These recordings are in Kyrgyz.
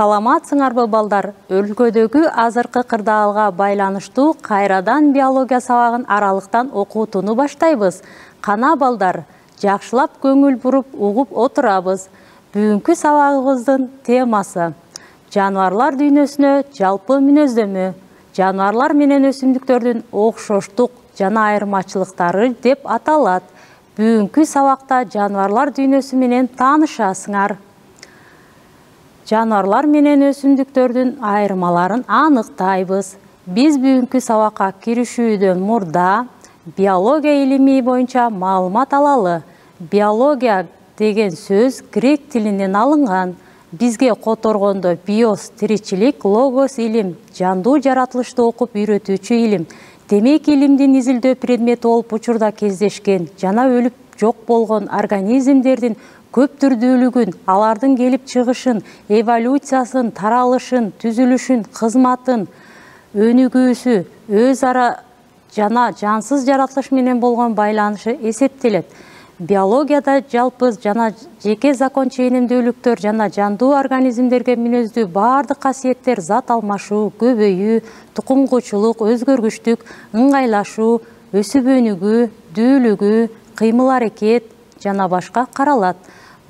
Саламатсыңарбы балдар? Өлкөдөгү азыркы кырдаалга байланыштуу кайрадан биология сабагын аралыктан окутууну баштайбыз. Кана балдар, жакшылап көңүл буруп угуп отурабыз. Бүгүнкү сабагыбыздын темасы жаныбарлар дүйнөсүнө жалпы мүнөздөмө. Жаныбарлар менен өсүмдүктөрдүн окшоштук жана айырмачылыктары деп аталат. Бүгүнкү сабакта жаныбарлар дүйнөсү менен таанышасыңар. Жаныбарлар менен өсүмдүктөрдүн айырмаларын аныктайбыз. Биз бүгүнкү сабакка киришүүдөн мурда биология илими боюнча маалымат алалы. Биология деген сөз грек тилинен алынган. Бизге которгондо биос тиричилик, логос илим, жандуу жаратылышты окуп үйрөтүүчү илим. Демек илимдин изилдөө предмети болуп учурда кездешкен жана өлүп жок болгон организмдердин көп түрдүүлүгүн, алардын келип чыгышын, эволюциясын, таралышын, түзүлүшүн, кызматын, өнүгүүсү, өз ара жана жансыз жаратылыш менен болгон байланышы эсептелет. Биологияда жалпы жана жеке закон ченемдүүлүктөр жана жандуу организмдерге мүнөздүү баардык касиеттер зат алмашуу, көбөйүү, тукумгучулук, өзгөргүчтүк, ыңгайлашуу, өсүп өнүгүү, дүүлүгүү, кыймыл аракет жана башка каралат.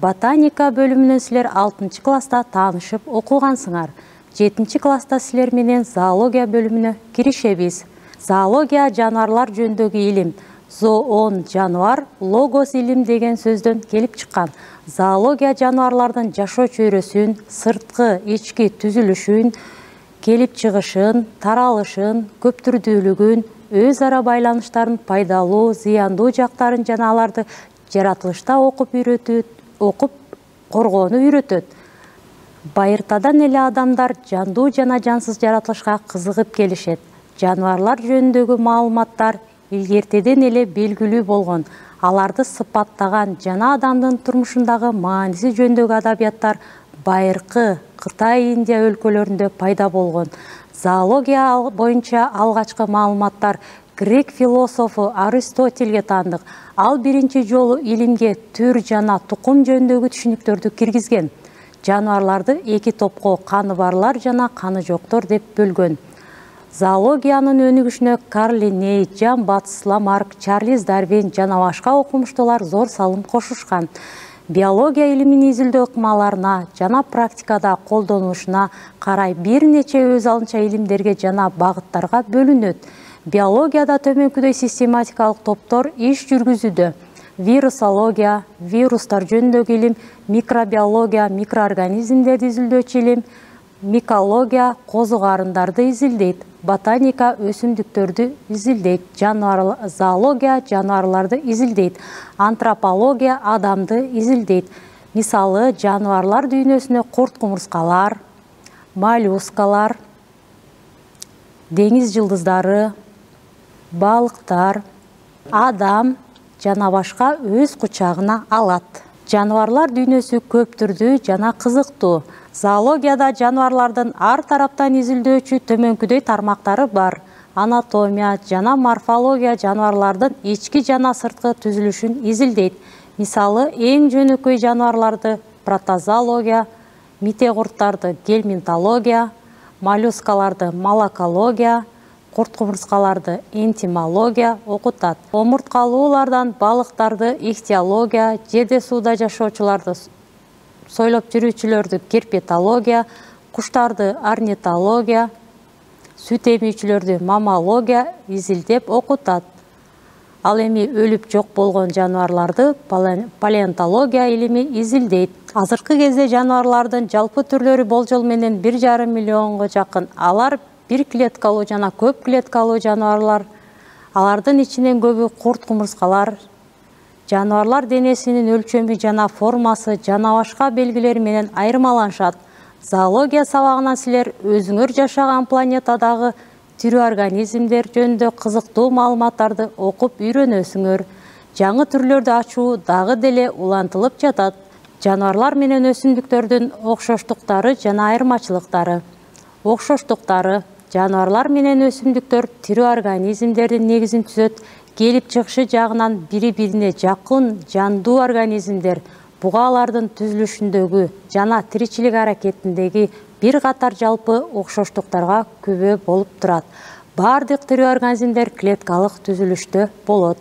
Ботаника бөлүмүнөн силер 6 класста таанышып окугансыңар. 7 класста силер менен зоология бөлүмүнө киришебиз. Зоология жаныбарлар жөнүндөгү илим. Зоон жаныбар, логос илим деген сөздөн келип чыккан. Зоология жаныбарлардын жашоо чөйрөсүн, сырткы, ички түзүлүшүн, келип чыгышын, таралышын, көптүрдүүлүгүн, өз ара байланыштарын, пайдалуу, зыяндуу жактарын жана аларды жаратылышта окуп коргоону үйрөтөт. Байыртадан эле адамдар жандуу жана жансыз жаратылышка кызыгып келишет. Жаныбарлар жөнүндөгү маалыматтар илгертеден эле белгилүү болгон. Аларды сыпаттаган жана адамдын турмушундагы мааниси жөнүндөгү адабияттар байыркы Кытай, Индия өлкөлөрүндө пайда болгон. Зоология боюнча алгачкы маалыматтар грек философу Аристотельге таандык. Ал биринчи жолу илимге түр жана тукум жөнүндөгү түшүнүктөрдү киргизген. Жаныбарларды 2 топко каны барлар жана каны жоктор деп бөлгөн. Зоологиянын өнүгүшүнө Карл Линней, Жан Батыс Ламарк, Чарлиз Дарвин жана башка окумуштуулар зор салым кошушкан. Биология илимин изилдөө ыкмаларына жана практикада колдонулушуна карай бир нече өз алынча илимдерге жана багыттарга бөлүнөт. Биологияда төмөнкүдөй систематикалык топтор иш жүргүзүүдө. Вирусология, вирустар жөнүндөгү илим, микробиология, микроорганизмдерди изилдөөчү илим, микология козу карындарды изилдейт, ботаника өсүмдүктөрдү изилдейт, зоология жаныбарларды изилдейт, антропология адамды изилдейт. Мисалы, жаныбарлар дүйнөсүнө курт-кумурскалар, моллюскалар, деңиз жылдыздары, балыктар, адам жана башка өз кучагына алат. Жаныбарлар дүйнөсү көп түрдүү жана кызыктуу. Зоологияда жаныбарлардын ар тараптан изилдөөчү төмөнкүдөй тармактары бар. Анатомия жана морфология жаныбарлардын ички жана сырткы түзүлүшүн изилдейт. Мисалы, эң жөнөкөй жаныбарларды протозоология, мите-курттарды гельминтология, моллюскаларды малакология, курт-кумурскаларды энтомология окутат. Омурткалуулардан балыктарды ихтиология, жерде сууда жашоочуларды сойлоп жүрүүчүлөрдү герпетология, куштарды орнитология, сүт эмүүчүлөрдү маммология изилдеп окутат. Ал эми өлүп жок болгон жаныбарларды палеонтология илими изилдейт. Азыркы кезде жаныбарлардын жалпы түрлөрү болжол менен 1,5 миллионго жакын. Алар бир клеткалуу жана көп клеткалуу жаныбарлар. Алардын ичинен көбү курт-кумурскалар. Жаныбарлар денесинин өлчөмү жана формасы жана башка белгилери менен айырмаланышат. Зоология сабагынан силер өзүңөр жашаган планетадагы тирүү организмдер жөнүндө кызыктуу маалыматтарды окуп үйрөнөсүңөр. Жаңы түрлөрдү ачуу дагы деле улантылып жатат. Жаныбарлар менен өсүмдүктөрдүн окшоштуктары жана айырмачылыктары. Окшоштуктары: жаныбарлар менен өсүмдүктөр тирүү организмдердин негизин түзөт. Келип чыгышы жагынан бири-бирине жакын жандуу организмдер. Буга алардын түзүлүшүндөгү жана тиричилик аракетиндеги бир катар жалпы окшоштуктарга күбө болуп турат. Бардык тирүү организмдер клеткалык түзүлүштө болот.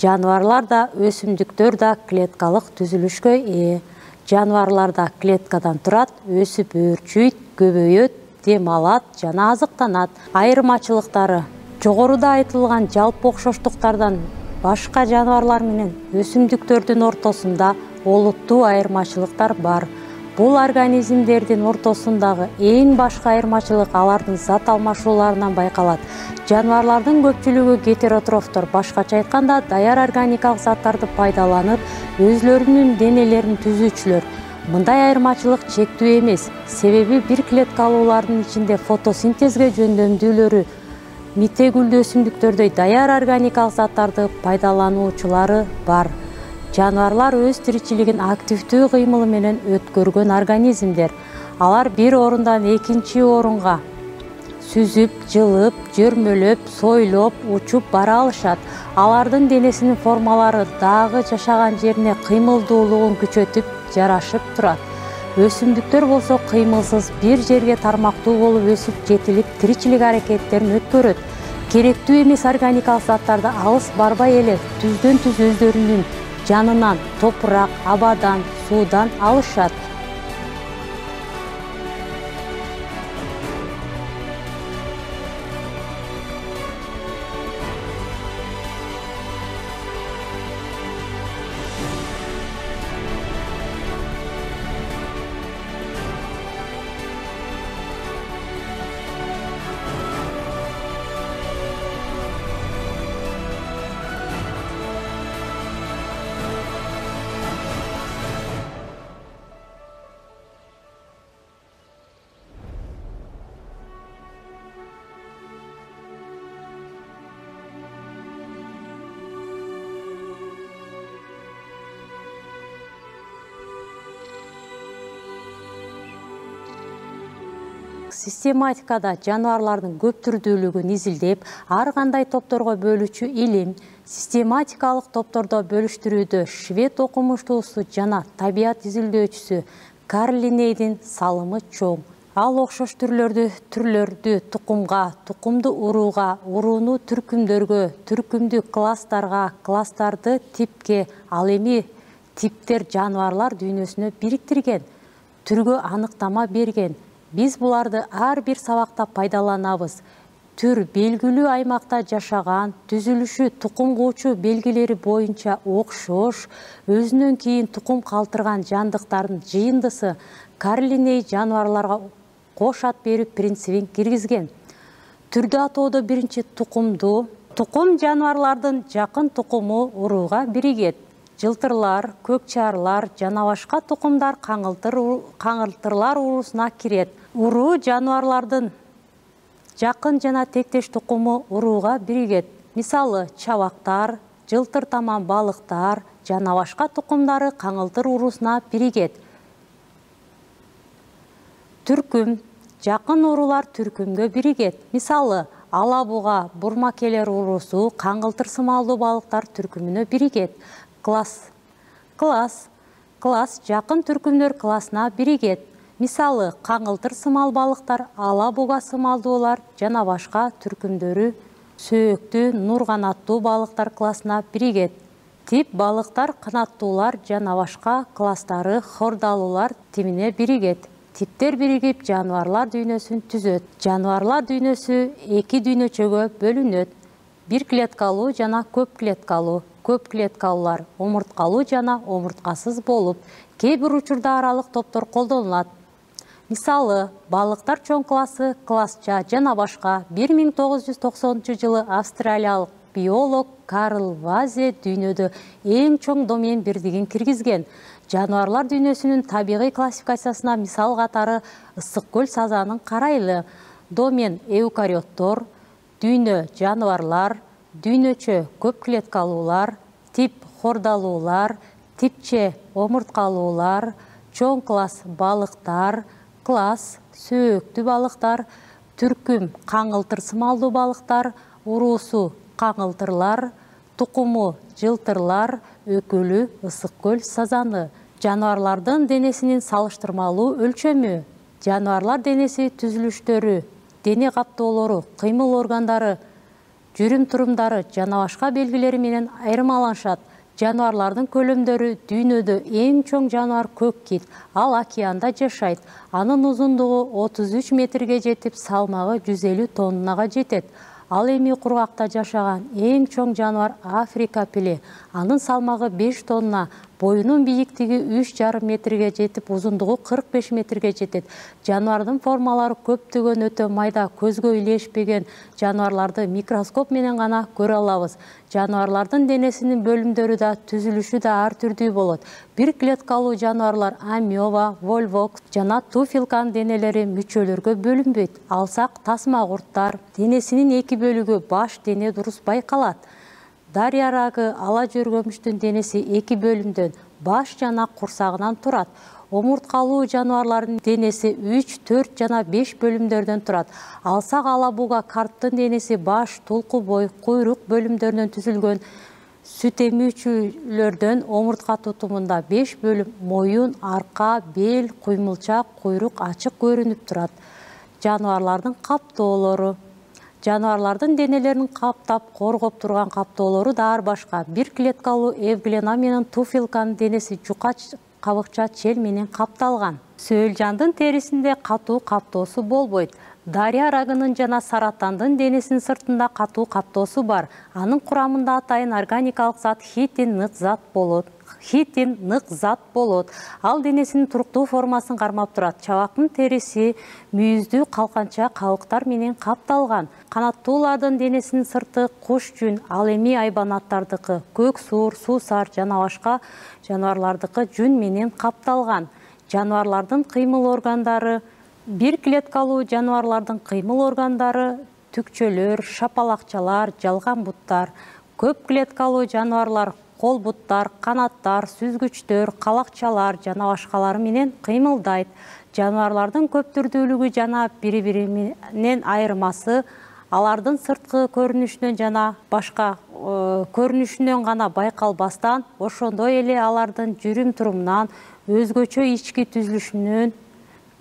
Жаныбарлар да, өсүмдүктөр да клеткалык түзүлүшкө ээ. Жаныбарлар да клеткадан турат, өсүп өөрчүйт, көбөйөт, дем алат жана азыктанат. Айырмачылыктары: жогоруда айтылган жалпы окшоштуктардан башка жаныбарлар менен өсүмдүктөрдүн ортосунда олуттуу айырмачылыктар бар. Бул организмдердин ортосундагы эң башкы айырмачылык алардын зат алмашууларынан байкалат. Жаныбарлардын көпчүлүгү гетеротрофтор, башкача айтканда, даяр органикалык заттарды пайдаланып, өзлөрүнүн денелерин түзүүчүлөр. Мындай айырмачылык чектүү эмес, себеби бир клеткалуулардын ичинде фотосинтезге жөндөмдүүлөрү митегүлдүү өсүмдүктөрдөй даяр органикалык заттарды пайдалануучулары бар. Жаныбарлар өз тиричилигин активдүү кыймыл менен өткөргөн организмдер. Алар бир орундан экинчи орунга сүзүп, жылып, жөрмөлөп, сойлоп, учуп бара алышат. Алардын денесинин формалары дагы жашаган жерине кыймылдуулугун күчөтүп, жарашып турат. Өсүмдүктөр болсо кыймылсыз бир жерге тармактуу болуп өсүп, жетилип, тиричилик аракеттерин өткөрөт. Керектүү эмес органикалык заттарды алыс барбай эле түздөн-түз өздөрүнүн жанынан, топурак, абадан, суудан алышат. Систематикада жаныбарлардын көп түрдүүлүгүн изилдеп, ар кандай топторго бөлүүчү илим, систематикалык топтордо бөлүштүрүүдө швед окумуштуусу жана табият изилдөөчүсү Карл Линнейдин салымы чоң. Ал окшош түрлөрдү тукумга, тукумду урууга, урууну түркүмдөргө, түркүмдү класстарга, класстарды типке, ал эми типтер жаныбарлар дүйнөсүнө бириктирген, түргө аныктама берген. Биз буларды ар бир сабакта пайдаланабыз. Түр белгилүү аймакта жашаган, түзүлүшү тукум куучу белгилери боюнча окшош, өзүнөн кийин тукум калтырган жандыктардын жыйындысы. Карл Линней жаныбарларга кош ат берүү принцибин киргизген. Түрдү атоодо биринчи тукумду. Тукум жаныбарлардын жакын тукуму урууга биригет. Жылтырлар, көкчарлар жана башка тукумдар каңылтырлар уруусуна кирет. Уруу жаныбарлардын жакын жана тектеш тукуму урууга биригет. Мисалы, чабактар, жылтыр таман балыктар жана башка тукумдары каңылтыр уруусуна биригет. Түркүм, жакын уруулар түркүмгө биригет. Мисалы, алабуга, бурмакелер уруусу каңылтыр сымалдуу балыктар түркүмүнө биригет. Класс жакын түркүмдөр классына биригет. Мисалы, каңылтыр сымал балыктар, алабуга сымалдуулар жана башка түркүмдөрү сөөктүү, нур канаттуу балыктар классына биригет. Тип балыктар, канаттуулар жана башка класстары хордалуулар тибине биригет. Типтер биригип жаныбарлар дүйнөсүн түзөт. Жаныбарлар дүйнөсү эки дүйнөчөгө бөлүнөт. Бир клеткалуу жана көп клеткалуу. Көп клеткалуулар омурткалуу жана омурткасыз болуп, кээ бир учурда аралык топтор колдонулат. Мисалы, балыктар чоң классы, классча жана башка. 1990-жылы австралиялык биолог Карл Вазе дүйнөдө эң чоң домен бирдигин киргизген. Жаныбарлар дүйнөсүнүн табигый классификациясына мисал катары ысык көл сазанын карайлы. Домен эукариоттор, дүйнө жаныбарлар, дүйнөчө көп клеткалуулар, тип хордалуулар, типче омурткалуулар, чоң класс балыктар, класс сөөктүү балыктар, түркүм каңылтыр сымалдуу балыктар, уруусу каңылтырлар, тукуму жылтырлар, өкүлү ысык көл сазаны. Жаныбарлардын денесинин салыштырмалуу өлчөмү. Жануарлар денеси түзүлүштөрү, дене каптоолору, кыймыл органдары, жүрүм-турумдары жана башка белгилери менен айырмаланышат. Жануарлардын көлөмдөрү дүйнөдө эң чоң жануар көк кит. Ал океанда жашайт. Анын узундугу 33 метрге жетип, салмагы 150 тоннага жетет. Ал эми кургакта жашаган эң чоң жануар Африка пиле. Анын салмагы 5 тонна, боюнун бийиктиги 3,5 метрге жетип, узундугу 45 метрге жетет. Жануардын формалары көптөгөн өтө майда, көзгө илешпеген жануарларды микроскоп менен гана көрө алабыз. Жануарлардын денесинин бөлүмдөрү да, түзүлүшү да ар түрдүү болот. Бир клеткалуу жануарлар амеба, вольвок жана туфилканын денелери мүчөлөргө бөлүнбөйт. Алсак тасма курттар денесинин эки бөлүгү баш дене дурус байкалат. Дарья рагы ала жөргөмүштүн денеси эки бөлүмдөн, баш жана курсагынан турат. Омурткалуу жануарлардын денеси 3, 4 жана 5 бөлүмдөрдөн турат. Алсак алабуга карттын денеси баш, тулку бой, куйрук бөлүмдөрүнөн түзүлгөн. Сүт эмүүчүлөрдөн омуртка тутумунда 5 бөлүм, моюн, арка, бел, куймулчак, куйрук ачык көрүнүп турат. Жануарлардын каптоолору. Жануарлардын денелерин каптап, коргоп турган каптоолору да ар башка. Бир клеткалуу эвглена менен туфилканын денеси жука кабыкча чел менен капталган. Сөөлжандын терисинде катуу каптоосу болбойт. Дарья рагынын жана саратандын денесинин сыртында катуу каптоосу бар. Анын курамында атайын органикалык зат хитин нык зат болот. Ал денесинин туруктуу формасын кармап турат. Чабактын териси мүйүздүү калканча кабыктар менен капталган. Канаттуулардын денесинин сырты куш жүн, ал эми айбанаттардыкы, көк суур, суусар жана башка жануарлардыкы жүн менен капталган. Жануарлардын кыймыл органдары. Бир клеткалуу жануарлардын кыймыл органдары түкчөлөр, шапалакчалар, жалган буттар. Көп клеткалуу жануарлар кол буттар, канаттар, сүзгүчтөр, калакчалар жана башкалары менен кыймылдайт. Жануарлардын көп түрдүүлүгү жана бири-бири менен айырмасы алардын сырткы көрүнүшүнөн жана башка көрүнүшүнөн гана байкалбастан, ошондой эле алардын жүрүм-турумунан, өзгөчө ички түзүлүшүнөн,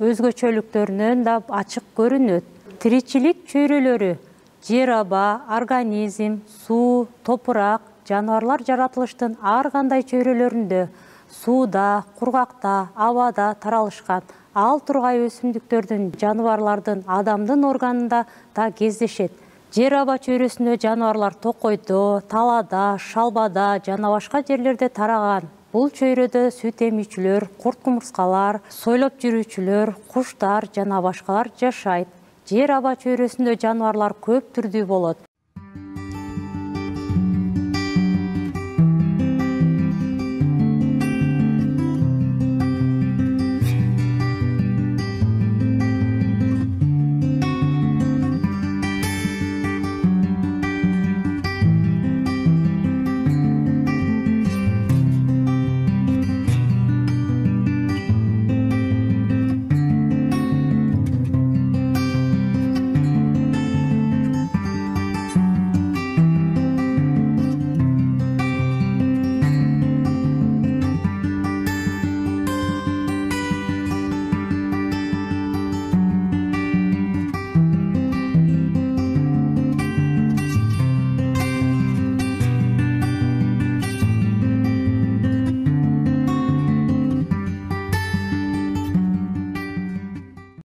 өзгөчөлүктөрүнөн да ачык көрүнөт. Тиричилик чөйрөлөрү. Жер аба, организм, суу, топурак. Жануарлар жаратылыштын ар кандай чөйрөлөрүндө, сууда, кургакта, абада таралышкан. Ал тургай өсүмдүктөрдүн, жаныбарлардын, адамдын органында да кездешет. Жер аба чөйрөсүндө жануарлар токойдо, талаада, шалбада жана башка жерлерде тараган. Бул чөйрөдө сүт эмүүчүлөр, курт-кумурскалар, сойлоп жүрүүчүлөр, куштар жана башкалар жашайт. Жер аба чөйрөсүндө жануарлар көп түрдүү болот.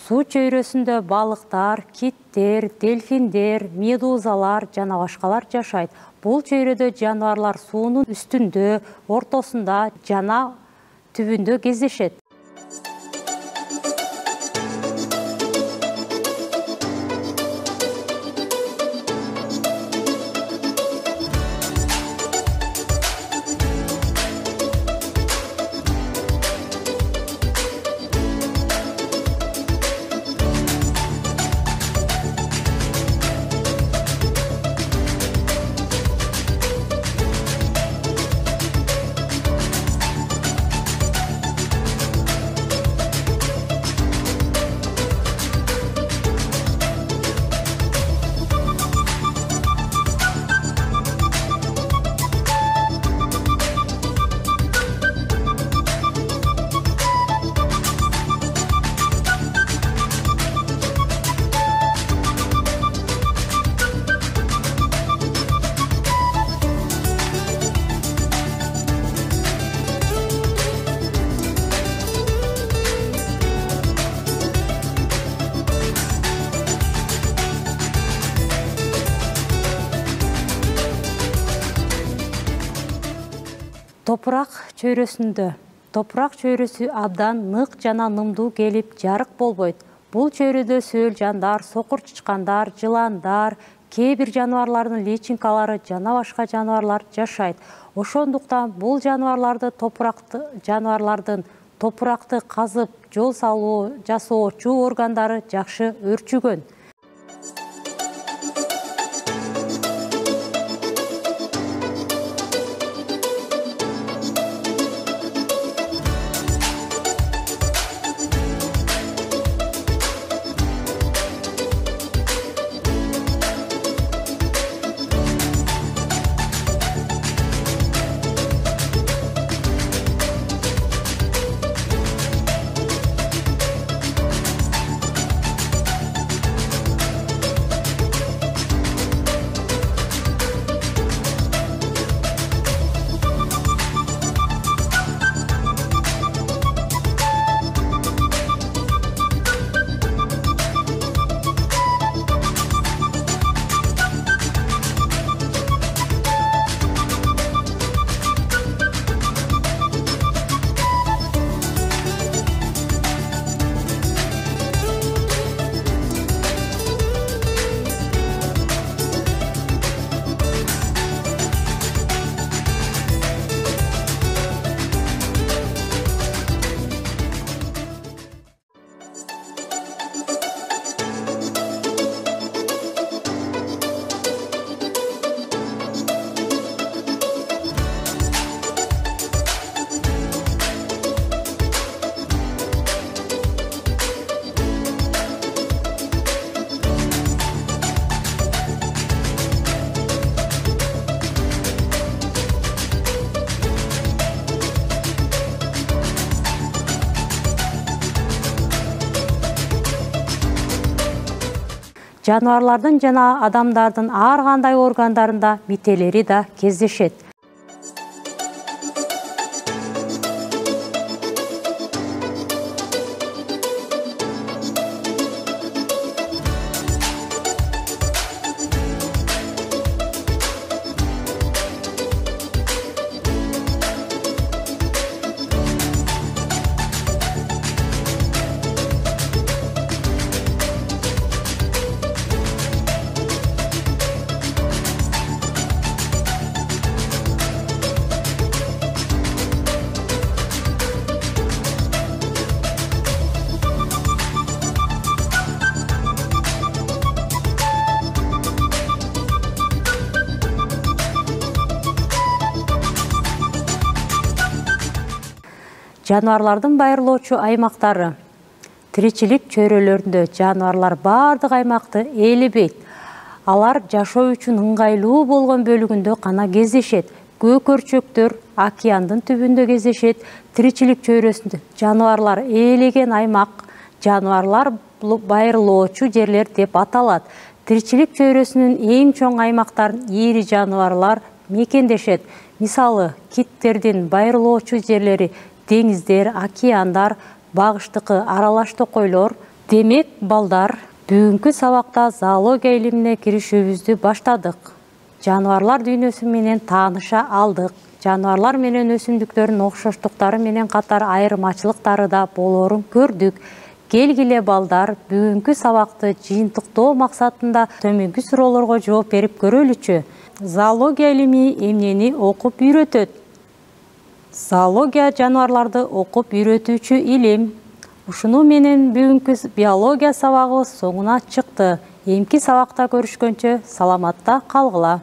Суу чөйрөсүндө балыктар, киттер, дельфиндер, медузалар жана башкалар жашайт. Бул чөйрөдө жануарлар суунун үстүндө, ортосунда жана түбүндө кездешет. Топурак чөйрөсүндө. Топурак чөйрөсү абдан нык жана нымдуу келип жарык болбойт. Бул чөйрөдө сөөл жандар, сокур чычкандар, жыландар, кээ бир жаныбарлардын личинкалары жана башка жаныбарлар жашайт. Ошондуктан бул жаныбарларды топуракты казып жол салуу жасоочу органдары жакшы өрчүгөн. Жаныбарлардын жана адамдардын ар кандай органдарында мителери да кездешет. Жаныбарлардын байырлоочу аймактары. Тиричилик чөйрөлөрүндө жаныбарлар бардык аймакты ээлебейт. Алар жашоо үчүн ыңгайлуу болгон бөлүгүндө гана кездешет. Көкөрчөктөр океандын түбүндө кездешет. Тиричилик чөйрөсүндө жаныбарлар ээлеген аймак жаныбарлар байырлоочу жерлер деп аталат. Тиричилик чөйрөсүнүн эң чоң аймактарын ири жаныбарлар мекендешет. Мисалы, киттердин байырлоочу жерлери деңиздер, океандар, багыштыкы аралаш токойлор. Демек, балдар, бүгүнкү сабакта зоология илимине киришүүбүздү баштадык. Жаныбарлар дүйнөсү менен тааныша алдык. Жаныбарлар менен өсүмдүктөрдүн окшоштуктары менен катар айырмачылыктары да болоорун көрдүк. Келгиле балдар, бүгүнкү сабакты жыйынтыктоо максатында төмөнкү суроолорго жооп берип көрөлүчү. Зоология илими эмнени окуп үйрөтөт? Зоология жаныбарларды окуп үйрөтүүчү илим. Ушуну менен бүгүнкү биология сабагыбыз соңуна чыкты. Эмки сабакта көрүшкөнчө саламатта калгыла.